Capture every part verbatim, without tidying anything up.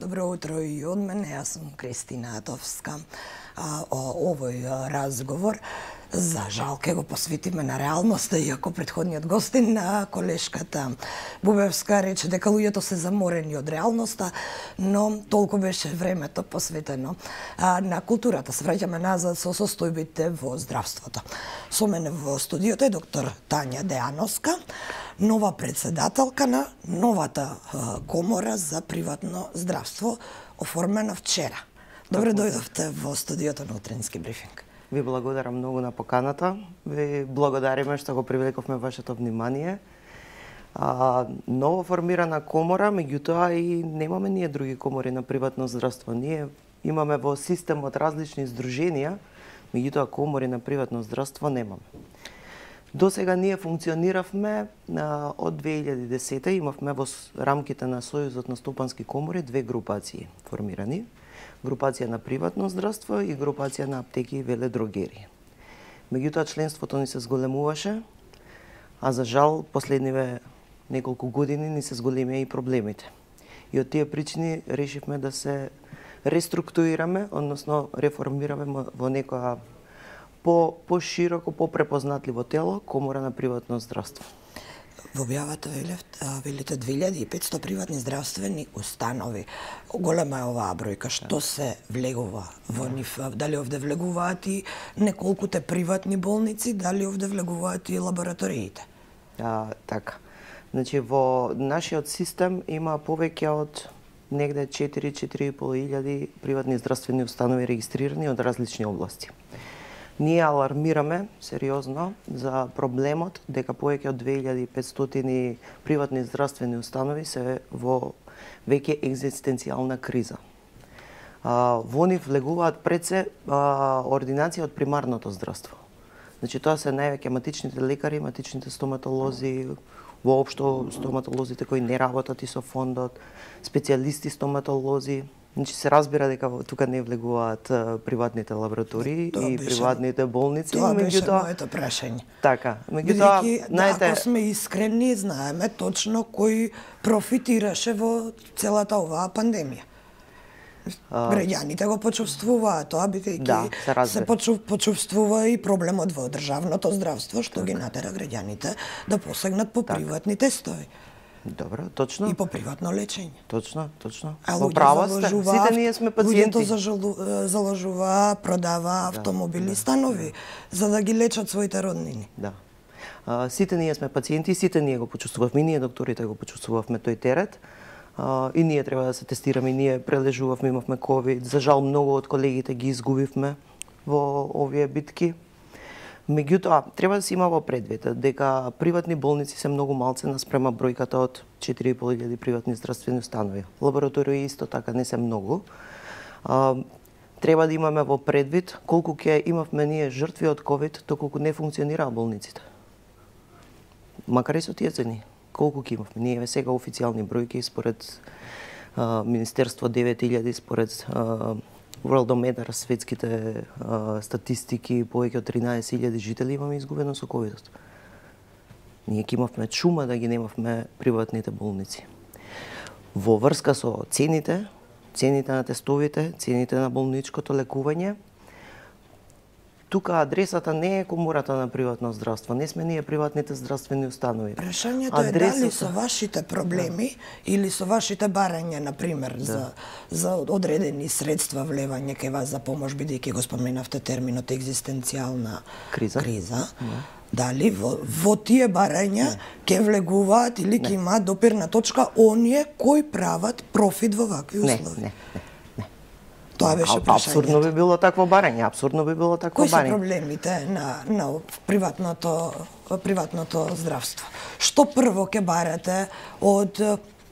Добро утро и од мене, јас сум Кристина Атовска. А, о, овој а, разговор, за жал, ке го посветиме на реалноста, иако претходниот гостин, на колешката Бубевска, рече дека луѓето се заморени од реалноста, но толку беше времето посветено а, на културата. Се враќаме назад со состојбите во здравството. Со мене во студиото е доктор Тања Деановска, нова председателка на новата а, комора за приватно здравство, оформена вчера. Добре дојдовте во студиото на Утренски брифинг. Ви благодарам многу на поканата. Ви благодариме што го привлековме вашето внимание. А, ново формирана комора, меѓутоа и немаме ние други комори на приватно здравство. Ние имаме во системот различни здруженија, меѓутоа комори на приватно здравство немаме. До сега ние функциониравме а, од две илјади и десета, имавме во рамките на Сојузот на стопански комори две групации формирани. Групација на приватно здравство и групација на аптеки и веледрогерии. Меѓутоа членството ни се зголемуваше, а за жал последниве неколку години ни се зголемија и проблемите. И од тие причини решивме да се реструктурираме, односно реформираме во некоја по пошироко, попрепознатливо тело, комора на приватно здравство. Во објавата велите две илјади и петсто приватни здравствени установи. Голема е оваа бројка. Што се влегува во нив? Дали овде влегуваат и неколкуте приватни болници, дали овде влегуваат и лабораториите? А, така. Значи, во нашиот систем има повеќе од негде четири до четири и пол илјади приватни здравствени установи регистрирани од различни области. Ние алармираме сериозно за проблемот дека повеќе од две илјади и петстотини приватни здравствени установи се во веќе екзистенцијална криза. А, во нив влегуваат пред се а, ординација од примарното здравство. Значи тоа се највеќе матичните лекари, матичните стоматолози, воопшто стоматолозите кои не работат и со фондот, специјалисти стоматолози. Значи се разбира дека тука не влегуваат приватните лаборатории тоа и беше, приватните болници. Тоа беше моето прашање. Така, меѓутоа, знаете, ако сме искрени, знаеме точно кој профитираше во целата оваа пандемија. Граѓаните го почувствуваат тоа, бидејќи да, се, се почув, почувствува и проблемот во државното здравство, што так ги натера граѓаните да посегнат по так приватни тестови. Добро, точно. И по приватно лечење. Точно, точно. Во права сте. Сите ние сме пациенти. Луѓето заложува, продава автомобили, да, станови, да, за да ги лечат своите роднини. Да. А, сите ние сме пациенти, сите ние го почувствувавме, ние докторите го почувствувавме тој терет. А, и ние треба да се тестираме, и ние прележувавме, имавме ковид. За жал многу од колегите ги изгубивме во овие битки. Меѓутоа, треба да се има во предвид дека приватни болници се многу малце наспрема бројката од четири и пол илјади приватни здравствени установи. Лаборатории исто така не се многу. А, треба да имаме во предвид колку ќе имавме ние жртви од ковид, доколку не функционираа болниците. Макар и со тие цени, колку ќе имавме? Ние сега официјални бројки според а, Министерство девет илјади, според а, Worldometer, светските а, статистики, повеќе од тринаесет илјади жители имаме изгубено со ковидот. Ние ќе имавме чума да ги немавме приватните болници. Во врска со цените, цените на тестовите, цените на болничкото лекување, тука адресата не е комората на приватно здравство, не сме ние приватните здравствени установи. Прашањето адресата е дали со вашите проблеми да, или со вашите барања, например, да, за, за одредени средства влевање кај вас за помош, бидејќи го споменавте терминот екзистенцијална криза, криза да, дали во, во тие барања ќе влегуваат или ќе имаат допирна точка оние кои прават профит во вакви услови? Не, не, не. Тоа беше прашањето. Апсурдно би било такво барање, апсурдно би било такво барање. Кои се проблемите на, на приватното, приватното здравство? Што прво ќе барате од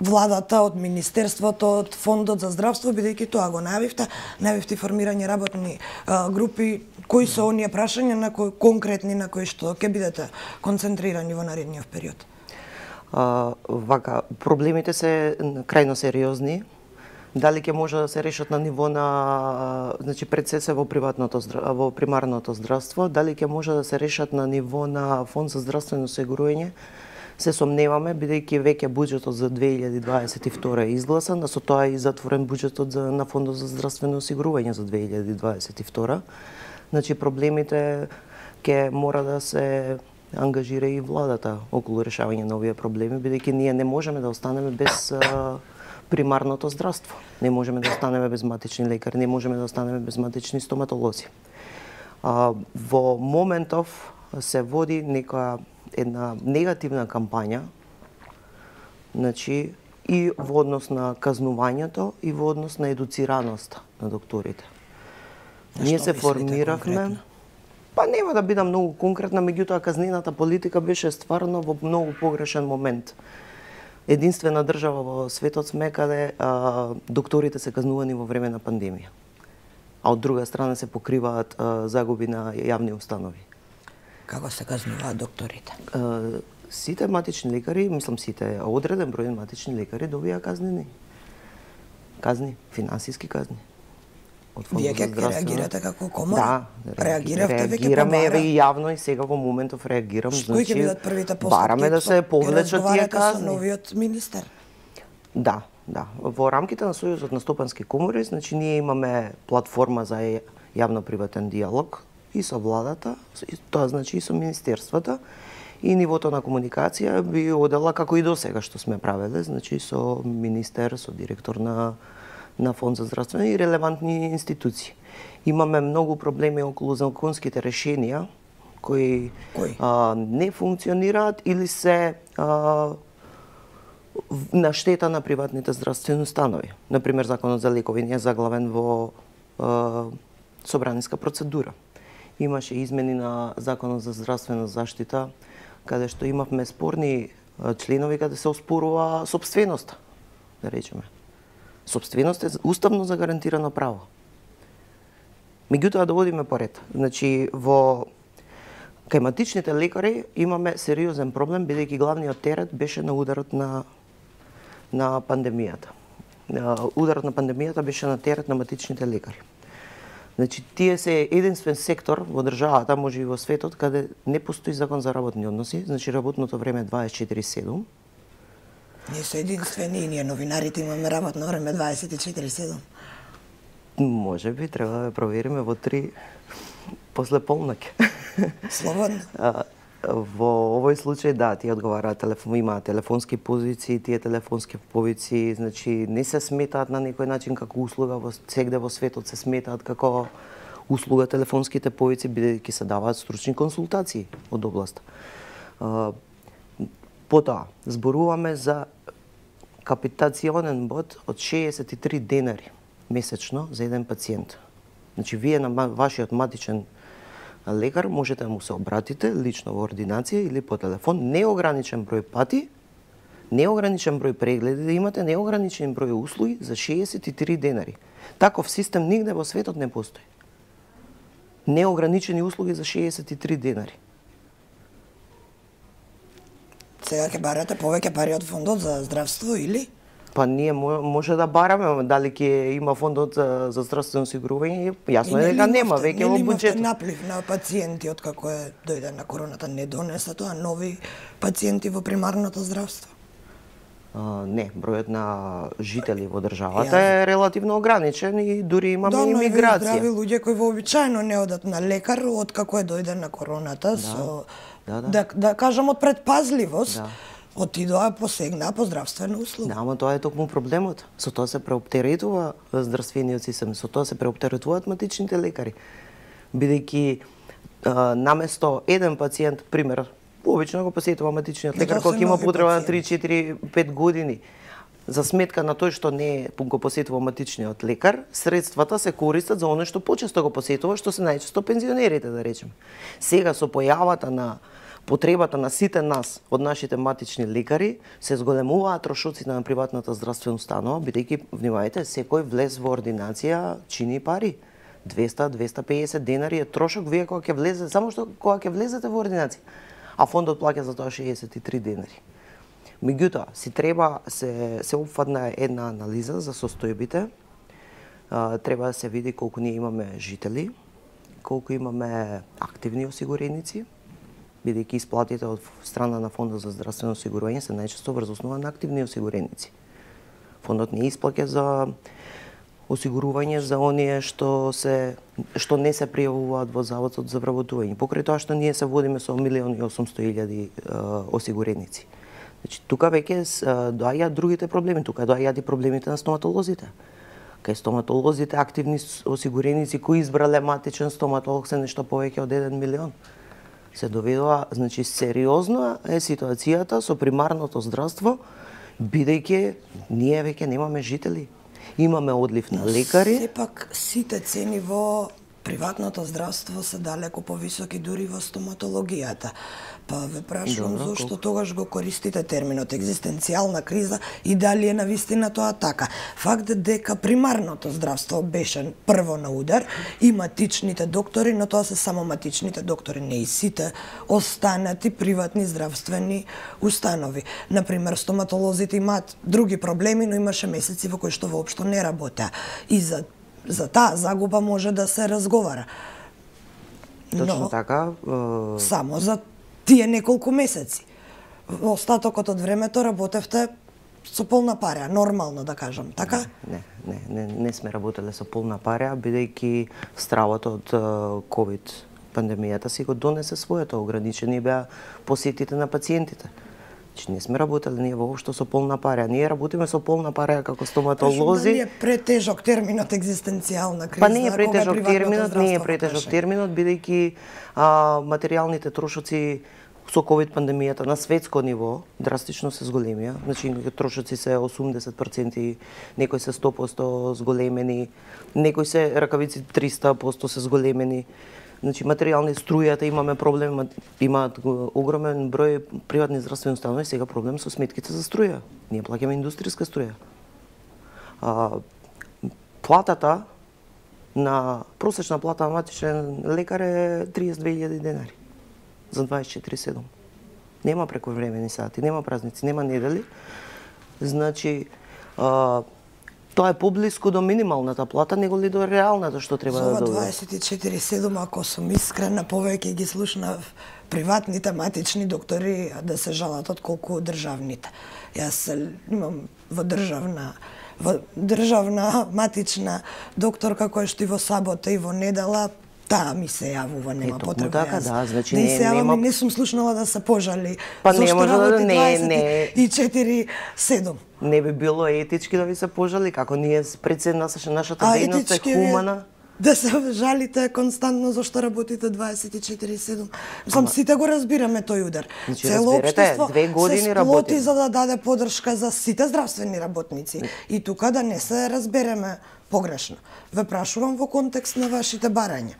владата, од Министерството, од Фондот за здравство, бидејќи тоа го најавивте, најавивте формирање работни а, групи, кои се оние прашања на кои конкретни на кои што ќе бидете концентрирани во наредниот период? А, вака, проблемите се крајно сериозни. Дали ќе може да се решат на ниво на, значи пред се се во приватното во примарното здравство, дали ќе може да се решат на ниво на фонд за здравствено осигурување, се сомневаме, бидејќи веќе буџетот за две илјади дваесет и втора е изгласан, а со тоа е и затворен буџетот за, на Фондот за здравствено осигурување за две илјади дваесет и втора. Значи, проблемите ќе мора да се ангажира и владата околу решавање на овие проблеми, бидејќи ние не можеме да останеме без а, примарното здравство. Не можеме да останеме без матични лекари, не можеме да останеме без матични стоматолози. А, во моментов се води нека една негативна кампања, значи и во однос на казнувањето и во однос на едуцираноста на докторите. Ние се формиравме, па нема да бидам многу конкретна, меѓутоа казнената политика беше стварно во многу погрешен момент. Единствена држава во светот сме каде а, докторите се казнувани во време на пандемија, а од друга страна се покриваат а, загуби на јавни установи. Како се казнуваат докторите? А, сите матични лекари, мислам сите, одреден број матични лекари добија казнени. Казни, финансиски казни. Вие ќе реагирате како комора? Да, реагиравте веќе реагираме побара. и јавно и сега во моментов реагирам. Кои ќе бидат првите постапки? Бараме да се повлечат тие казни. Со новиот министер? Да, да. Во рамките на Сојузот на стопански комори, значи ние имаме платформа за јавно-приватен диалог и со владата, и тоа значи и со министерствата, и нивото на комуникација би одела како и до сега што сме правеле, значи со министер, со директор на на Фонд за здравствено и релевантни институции. Имаме многу проблеми околу законските решенија кои, кои? А, не функционираат или се а, на штета на приватните здравствени установи. Например, законот за лекови не е заглавен во а, собраниска процедура. Имаше измени на законот за здравствена заштита, каде што имавме спорни членови каде се оспорува собственоста, да речеме. Собственост е уставно загарантирано право. Меѓутоа да одиме поред. Значи во кај матичните лекари имаме сериозен проблем бидејќи главниот терет беше на ударот на на пандемијата. Ударот на пандемијата беше на терет на матичните лекари. Значи тие се единствен сектор во државата, може и во светот, каде не постои закон за работни односи, значи работното време е дваесет и четири седум. Ние се единствени и ние новинарите имаме работно време дваесет и четири седум. Може би треба да провериме во три после полноќ. Слободно. А, во овој случај да, тие одговараат телефон, имаат телефонски позиции, тие телефонски позиции, значи не се сметаат на некој начин како услуга, во сегде во светот се сметаат како услуга телефонските позиции бидејќи се даваат стручни консултации од област. А, потоа зборуваме за капитационен бод од шеесет и три денари месечно за еден пациент. Значи, вие на вашиот матичен лекар можете да му се обратите лично во ординација или по телефон, неограничен број пати, неограничен број прегледи да имате, неограничен број услуги за шеесет и три денари. Таков систем нигде во светот не постои. Неограничени услуги за шеесет и три денари. Сега ќе барате повеќе пари од Фондот за здравство или? Па ние може да бараме, дали ќе има Фондот за, за здравствено осигурување, јасно е дека нема веќе во буџетот. Наплив на пациенти од како е дојде на короната, не донеса тоа нови пациенти во примарното здравство? А, не, бројот на жители во државата е релативно ограничен и дури имаме да, имиграција. Да, но здрави луѓе кои вообичаено не одат на лекар од како е дојде на короната, да, со да, да. да, да кажам од предпазливост. Да. Отидоа посегна по здравствена услуга. Да, ама тоа е токму проблемот. Со тоа се преоптеретува здравствениот систем, со тоа се преоптеретуваат матичните лекари. Бидејќи наместо еден пациент, пример, обично го посетува матичниот лекар кога има потреба на три, четири, пет години. За сметка на тој што не го посетува матичниот лекар, средствата се користат за оно што почесто го посетува, што се најчесто пензионерите, да речеме. Сега со појавата на потребата на сите нас од нашите матични лекари се зголемуваат трошоците на приватната здравствена установа, бидејќи внимавајте, секој влез во ординација чини пари. двеста до двеста и педесет денари е трошок вие кога ќе влезете, само што кога ќе влезете во ординација, а фондот плаќа за тоа шеесет и три денари. Меѓутоа, си треба се се опфатна една анализа за состојбите. А, треба да се види колку ние имаме жители, колку имаме активни осигуреници, бидејќи исплатите од страна на Фондот за здравствено осигурување се најчесто врз основа на активни осигуреници. Фондот не исплаќа за осигурување за оние што се што не се пријавуваат во Заводот за вработување. Покрај тоа што ние се водиме со милион и осумсто илјади осигуреници. Значи тука веќе доаѓаат другите проблеми, тука доаѓаат и проблемите на стоматолозите. Кај стоматолозите активни осигуреници кои избрале матичен стоматолог се нешто повеќе од еден милион. Се доведува, значи сериозна е ситуацијата со примарното здравство, бидејќи ние веќе немаме жители. Имаме одлив на лекари. Сепак сите цени во приватното здравство се далеко повисоки дури во стоматологијата. Па ве прашувам Добро, зошто колко? тогаш го користите терминот екзистенцијална криза и дали е навистина тоа така. Факт дека примарното здравство беше прво на удар и матичните доктори, но тоа се само матичните доктори, не и сите останати приватни здравствени установи. Например, стоматолозите имаат други проблеми, но имаше месеци во кои што воопшто не работеа. И за за таа загуба може да се разговара. Точно Но така. Е... само за тие неколку месеци. Во остатокот од времето работевте со полна парја, нормално да кажам, така? Не, не, не, не сме работеле со полна парја, бидејќи стравот од ковид пандемијата си го донесе своето, ограничени беа посетите на пациентите. Значи не сме работеле ние воопшто со полна парја. Ние работиме со полна парја како стоматолози. Дали е претежок терминот екзистенцијална криза? Па не е претежок кога терминот, не е претежок терминот, бидејќи а, материјалните трошоци со ковид пандемијата на светско ниво драстично се зголемија. Значи трошоци се осумдесет проценти, некои се сто проценти зголемени, некои се ракавици триста проценти се зголемени. Значи материјални струјата имаме проблем, имаат огромен број приватни здравствени установи, сега проблем со сметките за струја. Ние плаќаме индустријска струја. А, платата на просечна плата на матичен лекар е триесет и две илјади денари за дваесет и четири седум. Нема прековремени сати, нема празници, нема недели. Значи, а, тоа е поблиску до минималната плата, него ли до реалната што треба да добие. За дваесет и четири седум, ако сум искрена, повеќе ги слушнав приватните матични доктори да се жалат од колку државните. Јас имам во државна во државна матична докторка која што и во сабота и во недела таа ми се јавува, нема Ето, потреба. така, да, значи да не, се јавам нема... и не сум слушнала да се пожали. Па не зашто може да работи не, не. дваесет и четири седум. Не би било етички да ви се пожали, како ние пред се нашата А дејност е етички ви е хумана. да се жалите константно зашто работите дваесет и четири седум. Сам сите го разбираме тој удар. Значи, Цело разберете, општество две години се работиме. сплоти за да даде подршка за сите здравствени работници. И тука да не се разбереме погрешно. Ве прашувам во контекст на вашите барања.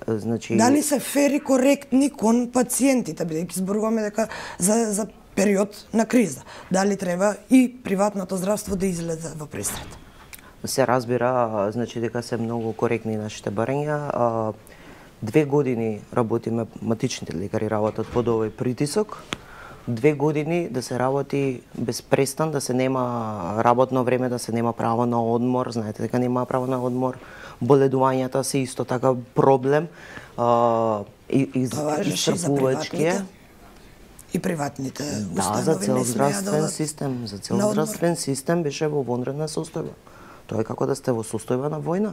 Значи... Дали се фери коректни кон пациентите, бидејќи зборуваме дека за, за период на криза. Дали треба и приватното здравство да излезе во пресрет? Се разбира, значи дека се многу коректни нашите барања. Две години работиме, матичните лекари работат под овој притисок. Две години да се работи без престан, да се нема работно време, да се нема право на одмор. Знаете дека нема право на одмор. Боледувањата се исто така проблем. А, и, и, исцрпувачки е. И приватните да, установи за цел не смеа здравствен да систем, за цел на одмор. здравствен систем беше во вонредна состојба. Тоа е како да сте во состојба на војна.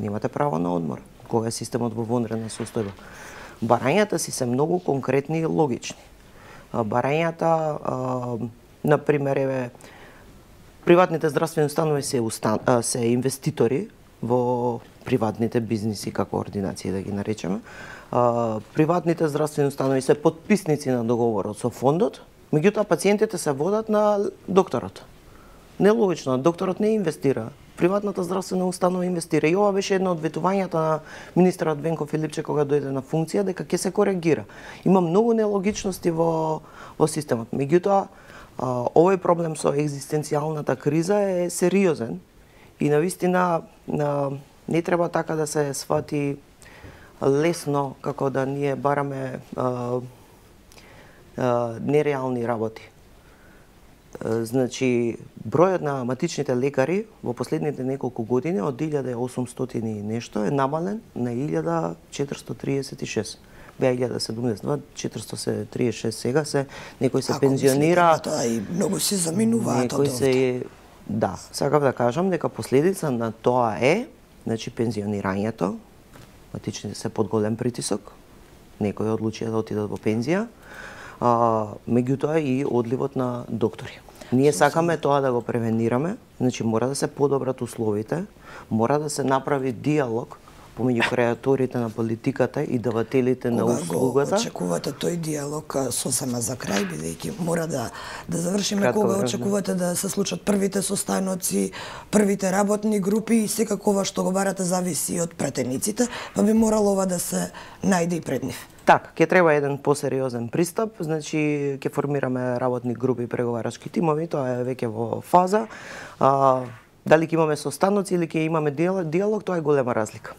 Немате право на одмор кога е системот во вонредна состојба. Барањата си се многу конкретни и логични. Барањата, на пример, е приватните здравствени установи се, устан... се инвеститори во приватните бизниси, како ординации да ги наречеме. Приватните здравствени установи се потписници на договорот со фондот, меѓутоа пациентите се водат на докторот. Нелогично, докторот не инвестира, приватната здравствена установа инвестира. И ова беше едно од ветувањата на министерот Венко Филипче кога дојде на функција, дека ќе се коригира. Има многу нелогичности во, во системот. Меѓутоа, овој проблем со екзистенцијалната криза е сериозен и навистина не треба така да се свати лесно како да ние бараме а, а, нереални работи. Значи, бројот на матичните лекари во последните неколку години од илјада и осумстотини и нешто е намален на илјада четиристотриесет и шест. беа илјада седумдесет и два, четиристотини се триесет и шест сега се, некои се Ако пензионира. мислите на тоа и многу си заминуваат од Некои овде. се да, сакав да кажам дека последица на тоа е, значи пензионирањето, матичните се под голем притисок, некои одлучија да отидат во пензија, а, меѓутоа и одливот на доктори. Ние сакаме тоа да го превенираме, значи мора да се подобрат условите, мора да се направи диалог помеѓу креаторите на политиката и давателите на услугата. Кога го очекувате тој диалог сосема за крај, бидејќи мора да да завршиме, Кратко кога време. очекувате да се случат првите состаноци, првите работни групи и секако ова што го барате зависи од пратениците, па би морало ова да се најде и пред нив. Така, ќе треба еден посериозен пристап, значи ќе формираме работни групи и преговарачки тимови, тоа е веќе во фаза. А, дали ќе имаме состаноци или ќе имаме диалог, тоа е голема разлика.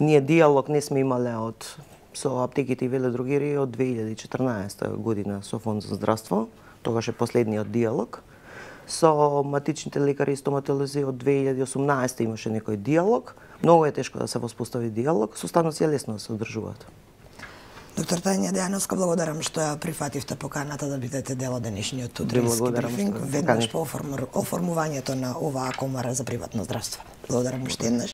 Ние диалог не сме имале од со аптеките и веледругери од две илјади и четрнаесета година со Фонд за здравство, тогаш е последниот диалог. Со матичните лекари и стоматолози од две илјади и осумнаесета имаше некој диалог. Многу е тешко да се воспостави диалог, состаноци е лесно да се одржуваат. Доктор Тања Дејановска, благодарам што ја прифативте поканата да бидете дел од денешниот утрински брифинг, веднаш по оформувањето на оваа комара за приватно здравство. Благодарам уште еднаш.